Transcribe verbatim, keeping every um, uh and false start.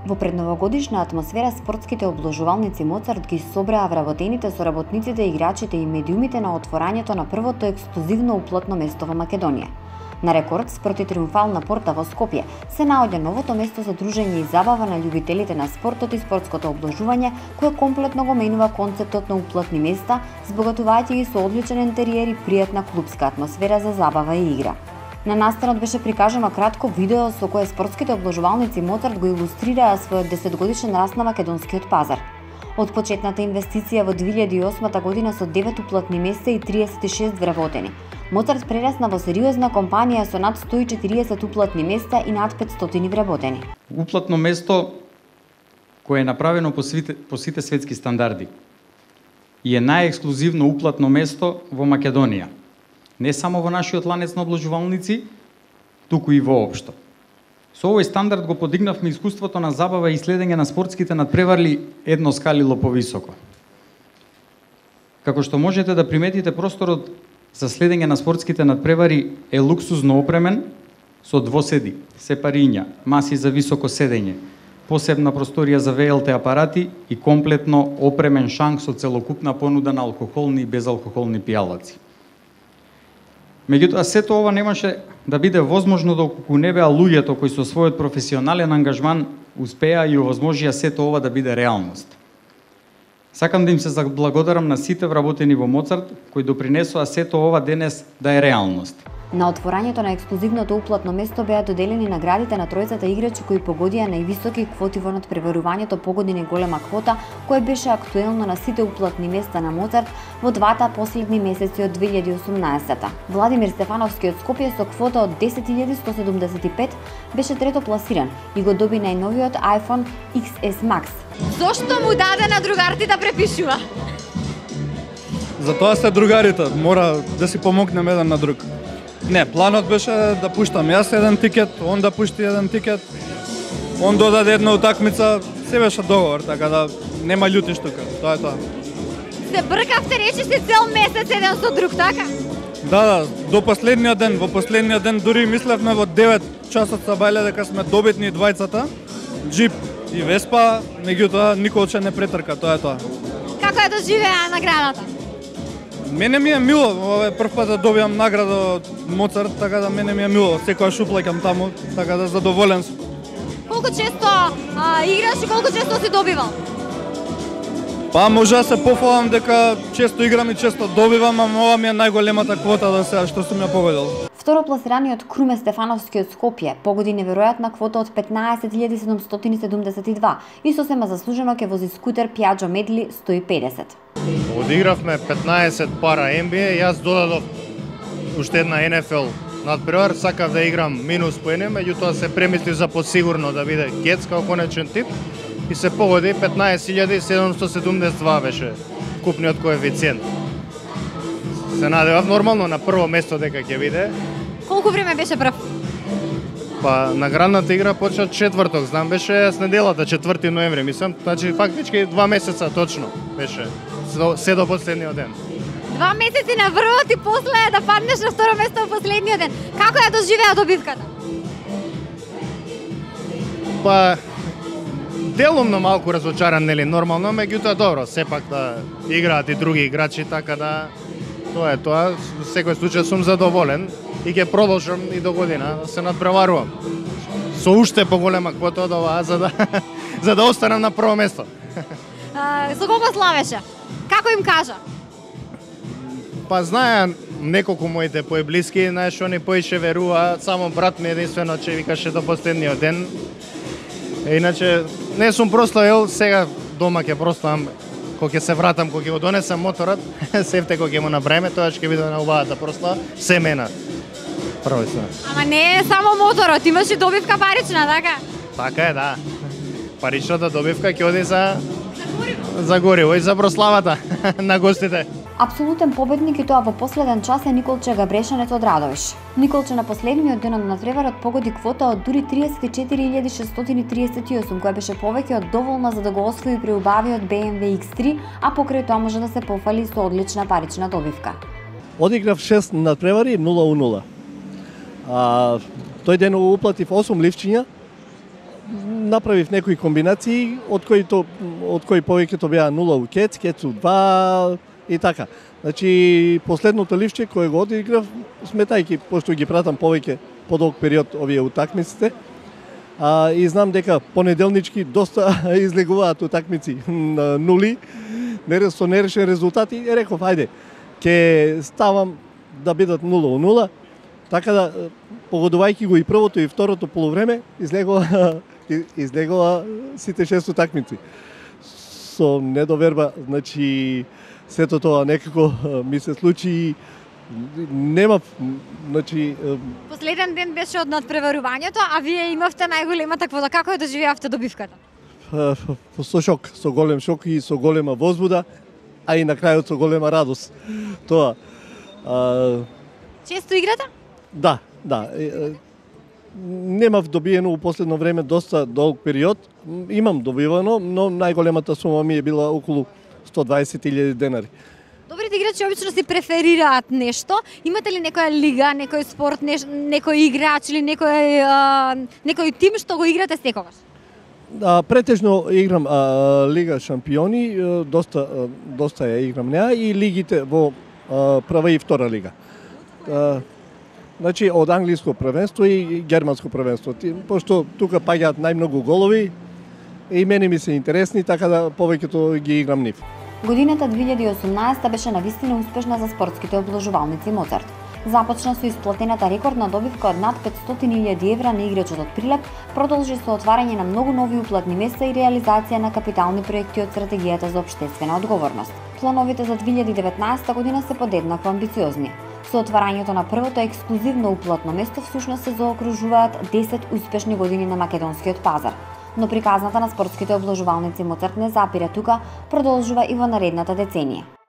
Во предновогодишна атмосфера спортските обложувалници Моцарт ги собраа вработените со работниците, играчите и медиумите на отворањето на првото ексклузивно уплатно место во Македонија. На рекорд спроти триумфална порта во Скопје се наоѓа новото место за дружење и забава на љубителите на спортот и спортското обложување, кое комплетно го менува концептот на уплатни места, збогатувајќи ги со одличен интериер и пријатна клубска атмосфера за забава и игра. На настанот беше прикажано кратко видео со кое спортските обложувалници Моцарт го илустрираа својот десетгодишен раст на македонскиот пазар. Од почетната инвестиција во две илјади и осма година со девет уплатни места и триесет и шест вработени, Моцарт прерасна во сериозна компанија со над сто и четириесет уплатни места и над петстотини вработени. Уплатно место кое е направено по сите, по сите светски стандарди и е најексклузивно уплатно место во Македонија. Не само во нашиот ланец на обложувалници, туку и воопшто. Со овој стандард го подигнавме искуството на забава и следење на спортските надпревари едно скалило повисоко. Како што можете да приметите, просторот за следење на спортските надпревари е луксузно опремен со двоседи, сепариња, маси за високо седење, посебна просторија за ви ел ти апарати и комплетно опремен шанк со целокупна понуда на алкохолни и безалкохолни пијалаци. Меѓутоа, сето ова немаше да биде возможно доколку не беа луѓето кои со својот професионален ангажман успеа и овозможија сето ова да биде реалност. Сакам да им се заблагодарам на сите вработени во Моцарт кои допринесоа сето ова денес да е реалност. На отворањето на ексклузивното уплатно место беа доделени наградите на тројцата играчи кои погодија највисоки квоти во надпреварувањето Погоди најголема квота, кое беше актуелно на сите уплатни места на Моцарт во двата последни месеци од две илјади и осумнаесета. Владимир Стефановски од Скопје со квота од десет илјади сто седумдесет и пет беше трето пласиран и го доби најновиот iPhone икс ес Max. Зошто му даде на другарите да препишува? Затоа се другарите, мора да си помогнеме еден на друг. Не, планот беше да пуштам јас еден тикет, он да пушти еден тикет, он додаде една утакмица, се беше договор, така да нема љутиш тука, тоа е тоа. Се бркавте, речиси цел месец еден со друг, така? Да, да, до последниот ден, во последниот ден дури мислевме во девет часот са бајле дека сме добитни двајцата, джип и Веспа, меѓутоа никој не претрка, тоа е тоа. Како ја доживеа наградата? Мене ми е мило, ова е прв пат да добиам награда од Моцарт, така да мене ми е мило, секојаш уплаќам таму, така да задоволен сум. Колку често а, играш и колку често си добивал? Па може да се пофалам дека често играм и често добивам, ама ова ми е најголемата квота до сега што сум ја победил. Второпласираниот Круме Стефановски од Скопје погоди неверојатна квота од петнаесет илјади седумстотини седумдесет и два и сосема заслужено ќе вози скутер Piaggio Medley сто и педесет. Одигравме петнаесет пара Ен Би Ей, јас додадов уште една Ен Еф Ел надпревар, сакав да играм минус поени, меѓутоа се премислив за посигурно да биде Гец као конечен тип и се погоди петнаесет илјади седумстотини седумдесет и два беше купниот коефициент. Се надевав нормално на прво место дека ќе биде. Колку време беше прв? Па наградната игра почна четврток, знам беше с неделата, четврти ноември, мислам, значи фактички два месеца точно беше, се до последниот ден. Два месеци на врвот и после да паднеш на второ место во последниот ден. Како ја доживеа добивката? Па делумно малку разочаран, нели, нормално, меѓутоа добро, сепак да играат и други играчи, така да тоа е тоа, во секој случај сум задоволен и ќе продолжам и до година да се надпреварувам. Со уште поголема квота од оваа за да за да останам на прво место. А, со кого славеше? Како им кажа? Па знаеа неколку моите поеблиски, знаеш, они поише верува, само брат ми единствено че викаше до последниот ден. Е, иначе не сум прославил, сега дома ќе прославам кога ќе се вратам, кога ќе го донесам моторот, сефте кога ќе му набраеме, тоа ќе биде на убавата прослава, семена. Прво се. Ама не е само моторот, имаш и добивка парична, така? Така е, да. Паричната добивка ќе оди за за гориво и за прославата на гостите. Апсолутен победник и тоа во последен час е Николче Габрешанец од Радовиш. Николче на последниот ден од надпреварот погоди квота од дури триесет и четири илјади шестстотини триесет и осум, која беше повеќе од доволна за да го освои преубавиот Бе Ем Ве Икс три, а покрај тоа може да се пофали со одлична парична добивка. Одиграв шест надпревари, нула у нула. А, тој ден уплатив осум ливчиња. направив некои комбинации од кои то од кои повеќето беа нула у кец, кец у два и така. Значи последното ливче кое го одиграв, сметајќи пошто ги пратам повеќе подолг период овие утакмиците, а, и знам дека понеделнички доста излегуваат утакмици на нули, не со нерешен резултат и реков ајде, ќе ставам да бидат нула у нула, така да погодувајќи го и првото и второто полувреме, излегува излегува сите шест утакмици. Со недоверба, значи сето тоа некако ми се случи, нема, значи Последен ден беше од надпреварувањето, а вие имавте најголемата квота. Како ја доживеавте добивката? со шок, со голем шок и со голема возбуда, а и на крајот со голема радост. Тоа. А, Често играте? да, да. Немав добиено у последно време доста долг период. Имам добивано, но најголемата сума ми е била околу сто дваесет илјади денари. Добрите играчи обично си преферираат нешто. Имате ли некоја лига, некој спорт, неш, некој играч или некој а, некој тим што го играте секогаш? А, претежно играм а, Лига шампиони, а, доста а, доста ја играм неа и лигите во а, прва и втора лига. А, значи од англиско првенство и германско првенство. Пошто тука паѓаат најмногу голови и мене ми се интересни, така да повеќето ги играм нив. Годината две илјади и осумнаесета беше навистина успешна за спортските обложувалници Моцарт. Започна со исплатената рекордна добивка од над петстотини илјади евра на играчот од Прилеп, продолжи со отварање на многу нови уплатни места и реализација на капитални проекти од стратегијата за општествена одговорност. Плановите за две илјади и деветнаесета година се подеднакво амбициозни. Со отварањето на првото ексклузивно уплатно место всушност се заокружуваат десет успешни години на македонскиот пазар. Но приказната на спортските обложувалници Моцарт не запира тука, продолжува и во наредната деценија.